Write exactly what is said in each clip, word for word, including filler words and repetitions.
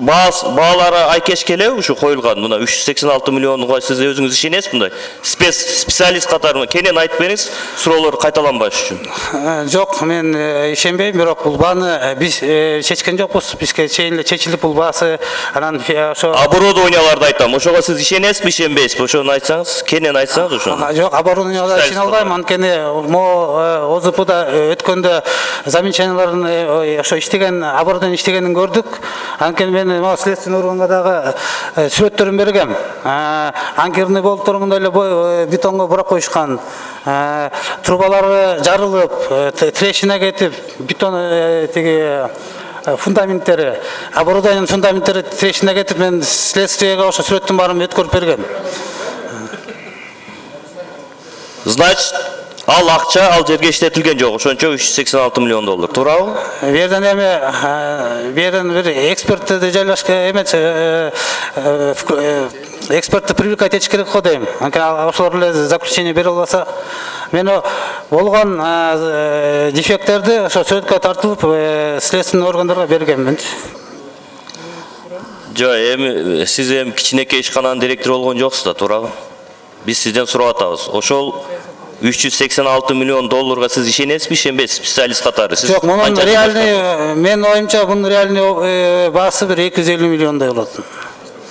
баалары айкеш келеби ушу коюлган мына үч жүз сексен алты миллионго сиз өзүңүз ишенесизби мындай специалист катары кенен айтып бериңиз суроолор кайталанбаш үчүн. Жок, мен ишенбейм, бирок бул бааны биз чечкен жокпуз. Бизге чейин эле чечилип бул баасы анан ошо оборудованияларды айтам. Ошого сиз ишенесизби, ишенбейсизби? Ошону айтсаңыз, кенен айтсаңыз ошону. Жок, оборудованияга ишене албайм. Анткени могу ОЗПда өткөндө замечанияларын ошо иштеген оборудование иштегенин көрдүк. Анткени мен могу следственный органга дагы сүрөттөрүн бергем. Анкерный болуптур мындай эле бетонго бурап коюшкан. Трубалары жарылып, трещина кетип, бетон тиги фундаменттери, оборудованиянын фундаменттери трещина кетип, мен следствиеге ошо сүрөттүн баарын өткөрүп бергем. Значит, ал акча ал жерге иштетилген жок. Ошончо үч жүз сексен алты миллион доллар. Туурабы? Бу жерден эми бу жерден бир экспертти жайлашка эмес, экспертти привлекать этиш керек го дейм. Анткени ошолор эле заключение бере албаса, мен болгон дефекттерди ошо сүрөткө тартылып, следственный органдарга бергенмин. Жок, эми сиз эми кичинекей ишкананын директору болгон жоксуз да, туурабы? Биз сизден сурап атабыз. Ошол үч жүз сексен алты миллион долларга сиз ишенесизби, ишенбейсизби, специалист катары? Жок, мунун реальный, мен оюмча бунун реальный баасы бир эки жүз элүү миллиондой болот.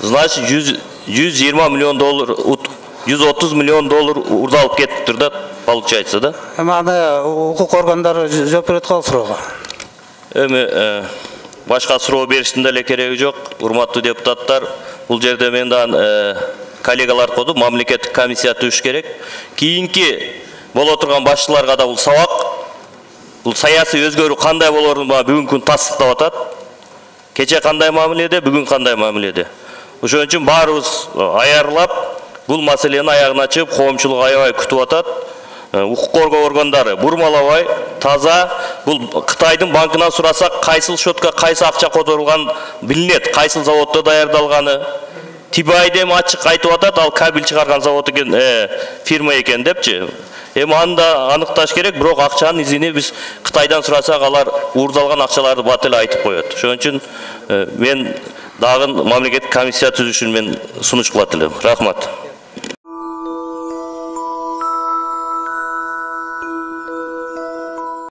Значит, жүз жыйырма миллион доллар, жүз отуз миллион доллар урдалып кетиптир да, получается да? Эми аны укук органдары жооп берет го суроого. Эми башка суроо бериштин деле кереги жок. Урматтуу депутаттар, бул жерде мен да коллегалар коду мамлекеттик комиссия түзүш керек. Кийинки боло турган башчыларга да бул сабак. Бул саясий өзгөрүү кандай болорун бүгүнкү күн тастыктап атат. Кече кандай мамиледе, бүгүн кандай мамиледе. Ошон үчүн баарыбыз аярлап бул маселени аягына чыгып, коомчулук аябай күтүп атат. Укук коргоо органдары бурмалабай, таза бул Кытайдын банкынан сурасак, кайсыл счетка кайсы акча которулган билинет, кайсыл заводдо даярдалганы. Тибайды эми ачык айтып атат, ал кабель чыгарган завод экен, фирма экен депчи. Эми аны да аныкташ керек, бирок акчанын изини биз Кытайдан сурасак, алар уурдалган акчаларды бат эле айтып коет. Ошон үчүн мен дагы мамлекеттик комиссия түзүшүн мен сунуш кылат элем. Рахмат.